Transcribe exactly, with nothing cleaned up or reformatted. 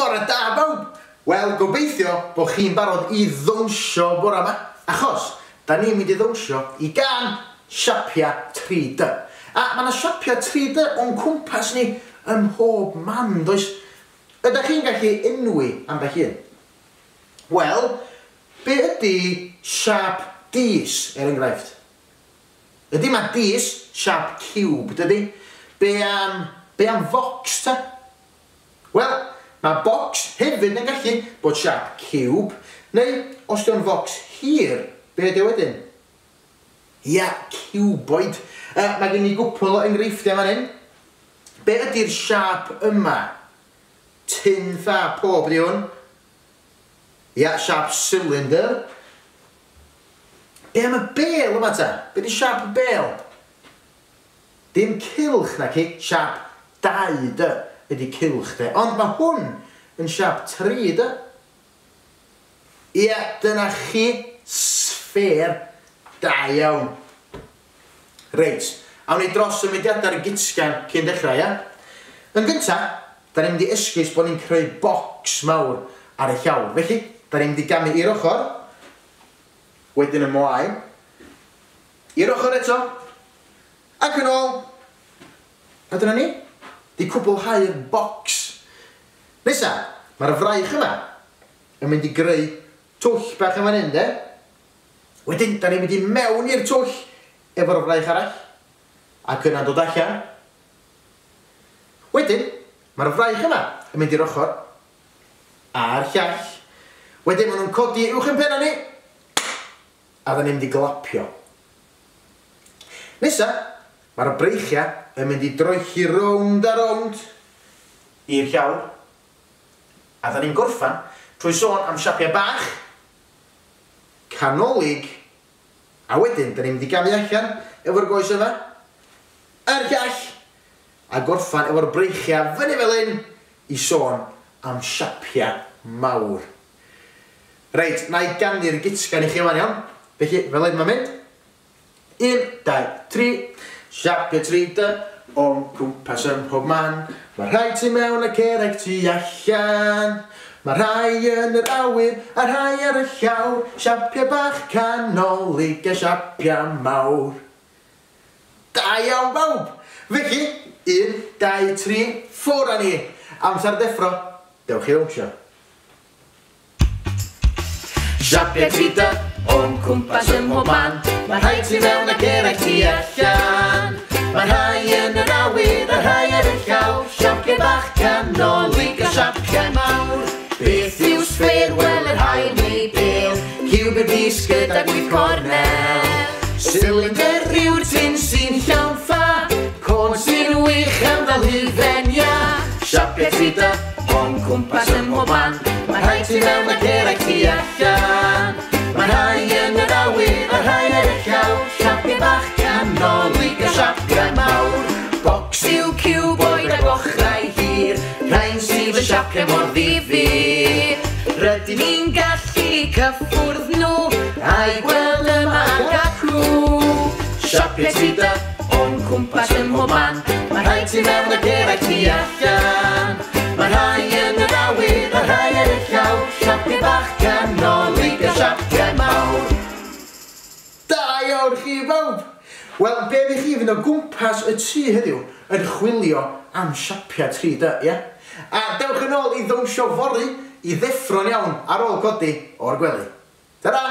Bore da bawb! Wel, gobeithio bod chi'n barod i ddawnsio bore yma, achos da ni'n mynd i ddawnsio i gân siapia tri D. A mae yna siapia tri D o'n cwmpas ni ym mhob man, does? Ydych chi'n gallu enwi ambell un? Wel, be ydy siap dis, er enghraifft? Ydy mae dis siap ciwb, dydy? Be am, be am focs, ta? Wel, mae bocs hefyd yn gallu bod siap ciwb, neu os dio'n focs hir, be ydy wedyn? Ia, ciwboid. Uh, mae gen i gwpl o enghreifftiau fan hyn. Be ydy'r siap yma? Tin ffa pob ydy hwn. Ia, siap cylinder. Be am y bêl yma ta? Be ydy siap y bêl? Dim cylch na ci, siap dau D ydy cylch de. Ond mae hwn yn siap tri D. Ia, dyna chi sffêr. Da iawn. Reit, awn ni dros y mudiadau ar y gitsgan cyn dechrau, ia? Yn gynta, da ni'n mynd i esgus bod ni'n creu bocs mawr ar y llawr. Felly, da ni'n mynd i gamu i'r ochr, wedyn ymlaen, i'r ochr eto, ac yn ôl. A dyna ni, di cwblhau'r bocs. Nesa, mae'r fraich yma yn mynd i greu twll bach yn fan hyn, de? Wedyn, da ni'n mynd i mewn i'r twll efo'r fraich arall, ac yna'n dod allan. Wedyn, mae'r fraich yma yn mynd i'r ochr a'r llall. Wedyn, maen nhw'n codi uwch yn penna ni, a da ni'n mynd i glapio. Nesa, mae'r breichiau yn mynd i droelli rownd a rownd i'r llawr. A da ni'n gorffan trwy sôn am siapiau bach, canolig, a wedyn da ni'n mynd i gamu allan efo'r goes yma, a'r llall, a gorffan efo'r breichiau fyny fel hyn i sôn am siapiau mawr. Reit, na i ganu'r gitsgan i chi yma'n iawn. Felly, fel hyn mae'n mynd. Un, dau, tri. Siapiau tri D o'n cwmpas ym mhob man. Mae rhai tu mewn ac eraill tu allan. Mae rhai yn yr awyr a rhai ar y llawr. Siapiau bach canolig a siapiau mawr. Da iawn bawb! Felly, un, dau, tri, ffwrdd â ni! Amser deffro, dewch i ddawnsio. Siapiau tri D o'n cwmpas ym mhob man. Mae rhai tu mewn ac eraill tu allan. Mae rhai yn yr awyr a rhai ar y llawr. Siapiau bach canolig a siapiau mawr. Beth yw sffêr? Wel, yr haul neu bêl. Ciwb yw'r dis gydag wyth cornel. Cylinder yw'r tin sy'n llawn ffa. Côn sy'n wych am ddal hufen iâ. Siapiau tri D o'n cwmpas ym mhob man. Mae rhai tu mewn ac eraill tu allan. Mae rhai yn yr awyr a rhai ar y llawr. Siapiau bach canolig a siapiau mawr. Bocs yw ciwboid ag ochrau hir. Rhain sydd yn siapiau mor ddifyr. Rydyn ni'n gallu cyffwrdd nhw a'u gweld yma ac acw. Siapiau tri D o'n cwmpas ym mhob man. Mae rhai tu mewn ac eraill tu allan. Mae rhai yn yr awyr a rhai ar y llawr. Siapiau bach canolig a siapiau mawr. Da iawn chi bawb! Wel, be fi chi fynd o gwmpas y tŷ heddiw yn chwilio am siapiau tri D, ie? A dewch yn ôl i ddawnsio fory i ddeffro'n iawn ar ôl codi o'r gwely. Ta-ra!